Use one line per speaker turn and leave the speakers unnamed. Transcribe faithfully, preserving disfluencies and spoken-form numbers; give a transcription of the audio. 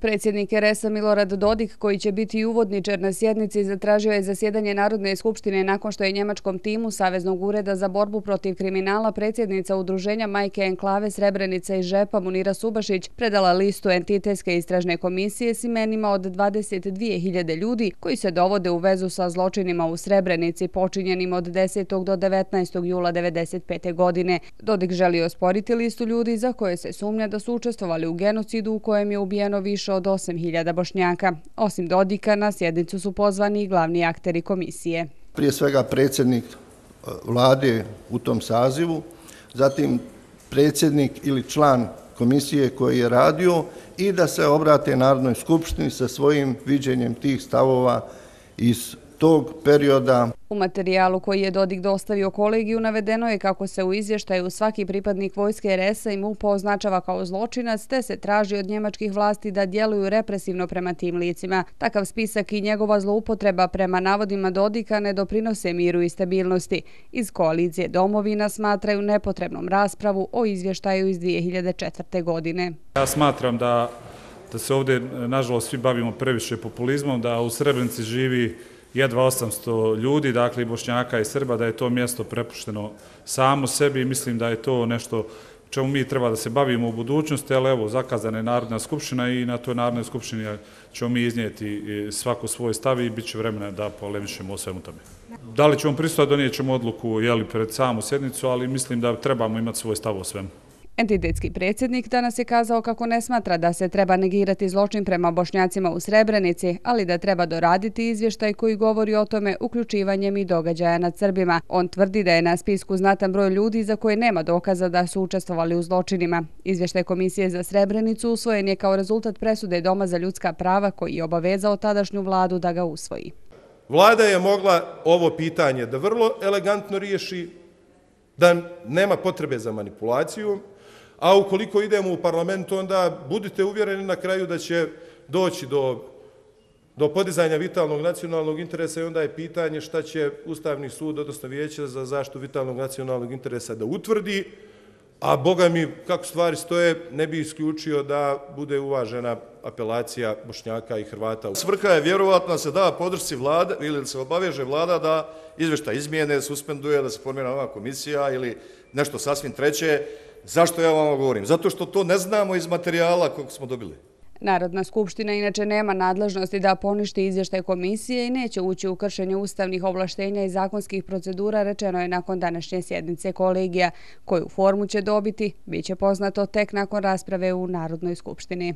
Predsjednik er es a Milorad Dodik, koji će biti uvodničar na sjednici, zatražio je zasjedanje Narodne skupštine nakon što je njemačkom timu Saveznog ureda za borbu protiv kriminala predsjednica udruženja Majke enklave Srebrenica i Žepa Munira Subašić predala listu entitetske istražne komisije s imenima od dvadeset dvije hiljade ljudi koji se dovode u vezu sa zločinima u Srebrenici počinjenim od desetog do devetnaestog jula devedeset pete. godine. Dodik želi osporiti listu ljudi za koje se sumnja da su učestvovali u genocidu u kojem je ubijeno više od osam hiljada Bošnjaka. Osim Dodika, na sjednicu su pozvani i glavni akteri komisije.
Prije svega predsjednik vlade u tom sazivu, zatim predsjednik ili član komisije koji je radio i da se obrate Narodnoj skupštini sa svojim viđenjem tih stavova iz tog perioda.
U materijalu koji je Dodik dostavio kolegiju navedeno je kako se u izvještaju svaki pripadnik vojske er es a i MUP-a označava kao zločinac, te se traži od njemačkih vlasti da djeluju represivno prema tim licima. Takav spisak i njegova zloupotreba prema navodima Dodika ne doprinose miru i stabilnosti. Iz koalicije Domovina smatraju nepotrebnom raspravu o izvještaju iz dvije hiljade četvrte. godine.
Ja smatram da, da se ovdje, nažalost, svi bavimo previše populizmom, da u Srebrenici živi jedva osamsto ljudi, dakle i Bošnjaka i Srba, da je to mjesto prepušteno samo sebi i mislim da je to nešto čemu mi treba da se bavimo u budućnosti, ali evo, zakazana je Narodna skupština i na toj Narodnoj skupštini ćemo mi iznijeti svako svoj stav i bit će vremena da polemišemo o svemu tome. Da li ćemo prisustvovati, donijet ćemo odluku jeli, pred samu sjednicu, ali mislim da trebamo imati svoj stav o svemu.
Entitetski predsjednik danas je kazao kako ne smatra da se treba negirati zločin prema Bošnjacima u Srebrenici, ali da treba doraditi izvještaj koji govori o tome uključivanjem i događaja nad Srbima. On tvrdi da je na spisku znatan broj ljudi za koje nema dokaza da su učestvovali u zločinima. Izvještaj Komisije za Srebrenicu usvojen je kao rezultat presude Doma za ljudska prava koji je obavezao tadašnju vladu da ga usvoji.
Vlada je mogla ovo pitanje da vrlo elegantno riješi, da nema potrebe za manipulaciju, a ukoliko idemo u parlament, onda budite uvjereni na kraju da će doći do, do podizanja vitalnog nacionalnog interesa i onda je pitanje šta će Ustavni sud, odnosno Vijeće za zaštitu vitalnog nacionalnog interesa da utvrdi, a boga mi, kako stvari stoje, ne bi isključio da bude uvažena apelacija Bošnjaka i Hrvata.
Svrha je vjerovatno da se da podršci vlade ili da se obaveže vlada da izvještaj izmijene, suspenduje, da se formira nova komisija ili nešto sasvim treće. Zašto ja vam govorim? Zato što to ne znamo iz materijala kog smo dobili.
Narodna skupština inače nema nadležnosti da poništi izvještaj komisije i neće ući u kršenje ustavnih ovlaštenja i zakonskih procedura, rečeno je nakon današnje sjednice kolegija. Koju formu će dobiti, bit će poznato tek nakon rasprave u Narodnoj skupštini.